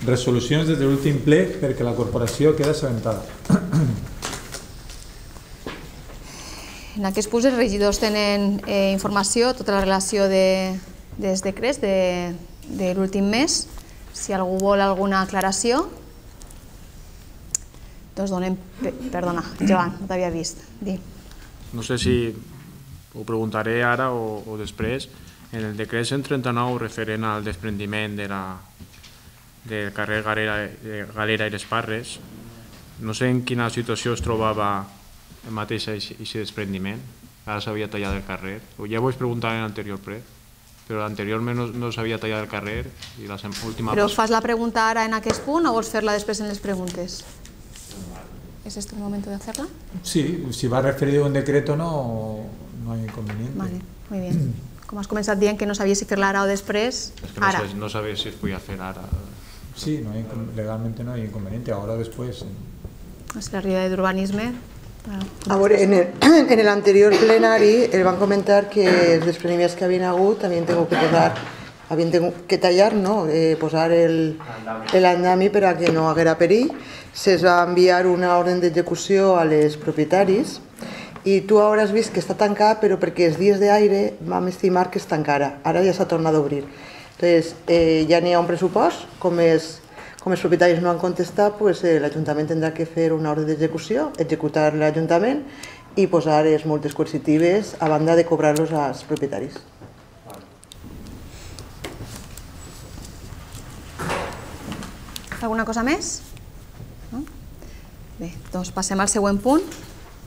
resolucions des de l'últim ple perquè la corporació queda assabentada. En aquests punts els regidors tenen informació, tota la relació dels decrets de l'últim mes. Si algú vol alguna aclaració, doncs donem... Perdona, Joan, no t'havia vist. No sé si ho preguntaré ara o després. En el decret 139 referent al desprendiment del carrer Galera i les Parres, no sé en quina situació es trobava el mateix aquest desprendiment. Ara s'havia tallat el carrer. Ja ho vaig preguntar en l'anterior ple, però anteriorment no s'havia tallat el carrer. Però fas la pregunta ara en aquest punt o vols fer-la després en les preguntes? ¿Es este el momento de hacerla? Sí, si va referido a un decreto no hay inconveniente. Vale, muy bien. Com has començat dient que no sabies si fer-la ara o després, ara. No sabia si es podia fer ara. Sí, legalmente no hay inconveniente, ahora o después. Es la regla de urbanisme. Ahora, en el anterior plenari van comentar que els despreniments que havien hagut havien que tallar, no? Posar l'andami per a que no haguera perill. Se'ls va enviar una ordre d'execució a les propietaris i tu ara has vist que està tancat, però perquè els dies d'aire vam estimar que es tancara. Ara ja s'ha tornat a obrir. Entonces, ja n'hi ha un pressupost, com els propietaris no han contestat, l'Ajuntament tindrà que fer una ordre d'execució, executar l'Ajuntament i posar les multes coercitives a banda de cobrar-los als propietaris. Alguna cosa més? Bé, doncs passem al següent punt.